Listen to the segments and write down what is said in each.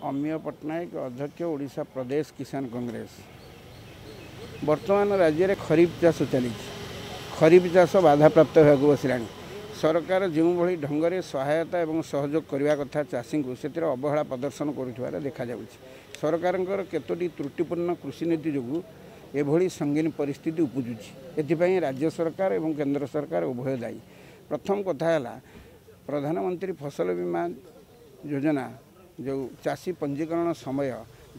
ଅମିୟ ପଟ୍ଟନାୟକ, ଅଧ୍ୟକ୍ଷ, ଓଡ଼ିଶା ପ୍ରଦେଶ କିଷାନ କଂଗ୍ରେସ। ବର୍ତ୍ତମାନ ରାଜ୍ୟରେ ଖରିଫ ଚାଷ ଚାଲିଛି। ଖରିଫ ଚାଷ ବାଧାପ୍ରାପ୍ତ ହେବାକୁ ବସିଲାଣି। ସରକାର ଯେଉଁଭଳି ଢଙ୍ଗରେ ସହାୟତା ଏବଂ ସହଯୋଗ କରିବା କଥା ଚାଷୀଙ୍କୁ, ସେଥିରେ ଅବହେଳା ପ୍ରଦର୍ଶନ କରୁଥିବାର ଦେଖାଯାଉଛି। ସରକାରଙ୍କର କେତୋଟି ତ୍ରୁଟିପୂର୍ଣ୍ଣ କୃଷିନୀତି ଯୋଗୁଁ ଏଭଳି ସଙ୍ଗୀନ ପରିସ୍ଥିତି ଉପୁଜୁଛି। ଏଥିପାଇଁ ରାଜ୍ୟ ସରକାର ଏବଂ କେନ୍ଦ୍ର ସରକାର ଉଭୟ ଦାୟୀ। ପ୍ରଥମ କଥା ହେଲା, ପ୍ରଧାନମନ୍ତ୍ରୀ ଫସଲ ବୀମା ଯୋଜନା ଯେଉଁ ଚାଷୀ ପଞ୍ଜୀକରଣ ସମୟ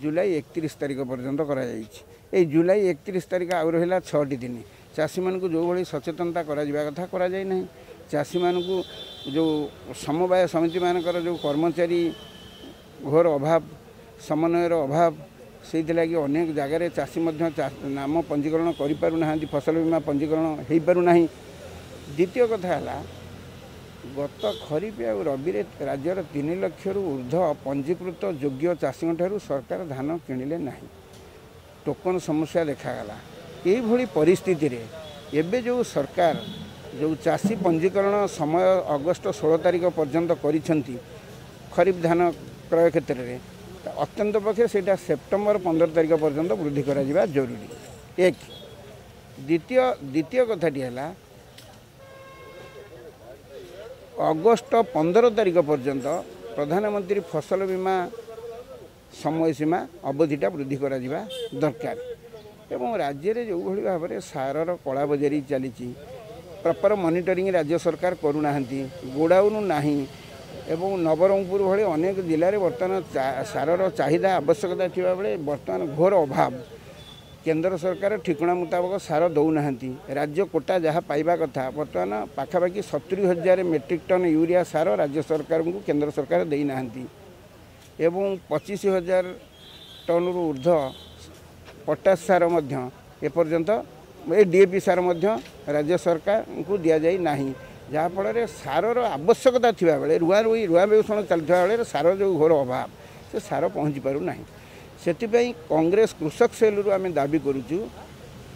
ଜୁଲାଇ 31 ତାରିଖ ପର୍ଯ୍ୟନ୍ତ କରାଯାଇଛି। ଏଇ ଜୁଲାଇ 31 ତାରିଖ ଆଉ ରହିଲା 6ଟି ଦିନ। ଚାଷୀମାନଙ୍କୁ ଯେଉଁଭଳି ସଚେତନତା କରାଯିବା କଥା, କରାଯାଇ ନାହିଁ। ଚାଷୀମାନଙ୍କୁ ଯେଉଁ ସମବାୟ ସମିତିମାନଙ୍କର ଯେଉଁ କର୍ମଚାରୀ ଘୋର ଅଭାବ, ସମନ୍ୱୟର ଅଭାବ, ସେଇଥିଲାଗି ଅନେକ ଜାଗାରେ ଚାଷୀ ମଧ୍ୟ ନାମ ପଞ୍ଜୀକରଣ କରିପାରୁନାହାନ୍ତି, ଫସଲ ବୀମା ପଞ୍ଜୀକରଣ ହୋଇପାରୁନାହିଁ। ଦ୍ୱିତୀୟ କଥା ହେଲା, ଗତ ଖରିଫ ଆଉ ରବିରେ ରାଜ୍ୟର 3 ଲକ୍ଷରୁ ଉର୍ଦ୍ଧ୍ୱ ପଞ୍ଜୀକୃତ ଯୋଗ୍ୟ ଚାଷୀଙ୍କ ଠାରୁ ସରକାର ଧାନ କିଣିଲେ ନାହିଁ। ଟୋକନ ସମସ୍ୟା ଦେଖାଗଲା। ଏଇଭଳି ପରିସ୍ଥିତିରେ ଏବେ ଯେଉଁ ସରକାର ଯେଉଁ ଚାଷୀ ପଞ୍ଜୀକରଣ ସମୟ ଅଗଷ୍ଟ 16 ତାରିଖ ପର୍ଯ୍ୟନ୍ତ କରିଛନ୍ତି ଖରିଫ ଧାନ କ୍ରୟ କ୍ଷେତ୍ରରେ, ଅତ୍ୟନ୍ତ ପକ୍ଷେ ସେଇଟା ସେପ୍ଟେମ୍ବର 15 ତାରିଖ ପର୍ଯ୍ୟନ୍ତ ବୃଦ୍ଧି କରାଯିବା ଜରୁରୀ, ଏକ। ଦ୍ୱିତୀୟ କଥାଟି ହେଲା, ଅଗଷ୍ଟ 15 ତାରିଖ ପର୍ଯ୍ୟନ୍ତ ପ୍ରଧାନମନ୍ତ୍ରୀ ଫସଲ ବୀମା ସମୟସୀମା ଅବଧିଟା ବୃଦ୍ଧି କରାଯିବା ଦରକାର। ଏବଂ ରାଜ୍ୟରେ ଯେଉଁଭଳି ଭାବରେ ସାରର କଳାବଜାରୀ ଚାଲିଛି, ପ୍ରପର ମନିଟରିଂ ରାଜ୍ୟ ସରକାର କରୁନାହାନ୍ତି, ଗୋଡାଉନ ନାହିଁ ଏବଂ ନବରଙ୍ଗପୁର ଭଳି ଅନେକ ଜିଲ୍ଲାରେ ବର୍ତ୍ତମାନ ସାରର ଚାହିଦା ଆବଶ୍ୟକତା ଥିବାବେଳେ ବର୍ତ୍ତମାନ ଘୋର ଅଭାବ। କେନ୍ଦ୍ର ସରକାର ଠିକଣା ମୁତାବକ ସାର ଦେଉନାହାନ୍ତି। ରାଜ୍ୟ କୋଟା ଯାହା ପାଇବା କଥା, ବର୍ତ୍ତମାନ ପାଖାପାଖି 70,000 ମେଟ୍ରିକ୍ ଟନ୍ ୟୁରିଆ ସାର ରାଜ୍ୟ ସରକାରଙ୍କୁ କେନ୍ଦ୍ର ସରକାର ଦେଇନାହାନ୍ତି ଏବଂ 25,000 ଟନ୍ରୁ ଉର୍ଦ୍ଧ୍ୱ ପଟାସ ସାର ମଧ୍ୟ ଏପର୍ଯ୍ୟନ୍ତ, ଏ ଡିଏପି ସାର ମଧ୍ୟ ରାଜ୍ୟ ସରକାରଙ୍କୁ ଦିଆଯାଇ ନାହିଁ। ଯାହାଫଳରେ ସାରର ଆବଶ୍ୟକତା ଥିବାବେଳେ, ରୁଆ ରୁଇ ରୁଆ ବେଉଷଣ ଚାଲିଥିବା ବେଳେ ସାର ଯେଉଁ ଘୋର ଅଭାବ, ସେ ସାର ପହଞ୍ଚି ପାରୁନାହିଁ। ସେଥିପାଇଁ କଂଗ୍ରେସ କୃଷକ ସେଲ୍ରୁ ଆମେ ଦାବି କରୁଛୁ,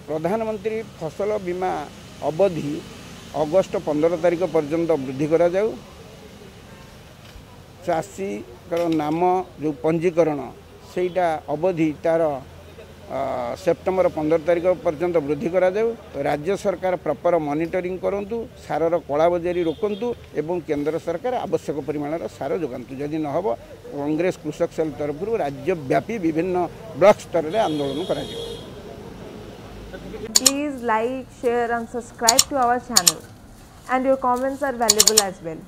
ପ୍ରଧାନମନ୍ତ୍ରୀ ଫସଲ ବୀମା ଅବଧି ଅଗଷ୍ଟ 15 ତାରିଖ ପର୍ଯ୍ୟନ୍ତ ବୃଦ୍ଧି କରାଯାଉ। ଚାଷୀଙ୍କର ନାମ ଯେଉଁ ପଞ୍ଜୀକରଣ, ସେଇଟା ଅବଧି ତା'ର ସେପ୍ଟେମ୍ବର 15 ତାରିଖ ପର୍ଯ୍ୟନ୍ତ ବୃଦ୍ଧି କରାଯାଉ। ରାଜ୍ୟ ସରକାର ପ୍ରପର ମନିଟରିଂ କରନ୍ତୁ, ସାରର କଳାବଜାରୀ ରୋକନ୍ତୁ ଏବଂ କେନ୍ଦ୍ର ସରକାର ଆବଶ୍ୟକ ପରିମାଣର ସାର ଯୋଗାନ୍ତୁ। ଯଦି ନ ହେବ, କଂଗ୍ରେସ କୃଷକ ସେଲ୍ ତରଫରୁ ରାଜ୍ୟବ୍ୟାପୀ ବିଭିନ୍ନ ବ୍ଲକ ସ୍ତରରେ ଆନ୍ଦୋଳନ କରାଯିବ। Please like, share and subscribe to our channel, and your comments are valuable as well.